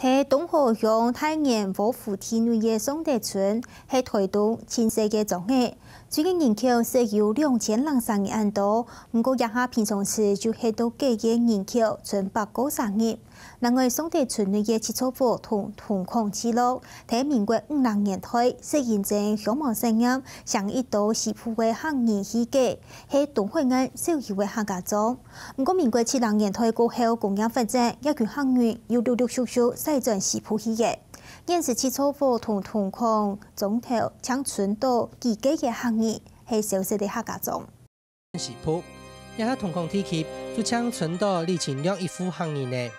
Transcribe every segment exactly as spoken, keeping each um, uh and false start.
在東河鄉大元和附近个尚德村，係臺東盡細个庄仔。雖然人口只有兩千零三人恁多，毋過這下平常時就歇到幾个人口，賰百過儕人。另外，尚德村个七座湖同銅礦聚落，在民國五零年代，實行成鄉望實驗，請一兜西埔个客人起家，係東海岸少有个客家庄。 毋過，民國七零年代過後，工業發展，這群客人又陸陸續續徙轉西埔去了。現時七座湖同銅礦庄頭淨賰到幾个个客人，係消失个客家庄。西埔，這下銅礦地區就淨賰到李清亮一戶客人呢。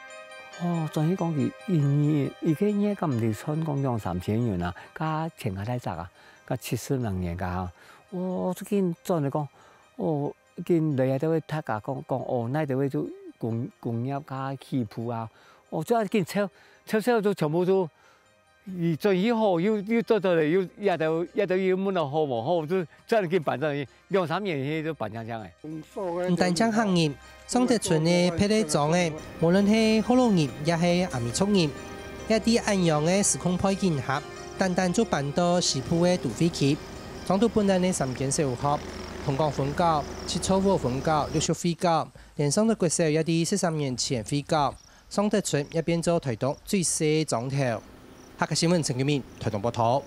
哦，轉去講佢一年，一個月敢毋知賺講兩三千銀啊，加錢較大隻啊，加七十零年个哈。哦，最近轉來講，哦， 緊來啊，就會大家講講哦，哪位就工工業加起步啊，哦，就緊湊湊湊就全部就，你轉去好又又做做了，又也都也都又問到好無好，就這樣緊辦到兩三年去就辦淨淨誒。毋單淨客人，尚德村个別个庄仔，無論係福佬人也係阿美族人，也在恁樣个時空背景下，單單就搬到西埔个都會區。 莊肚本來个三間小學，銅礦分校、七座湖分校陸續會校，連尚德國小也在十三年前會校，尚德村也變做臺東最細个庄頭。客家新聞陳金明，臺東報導。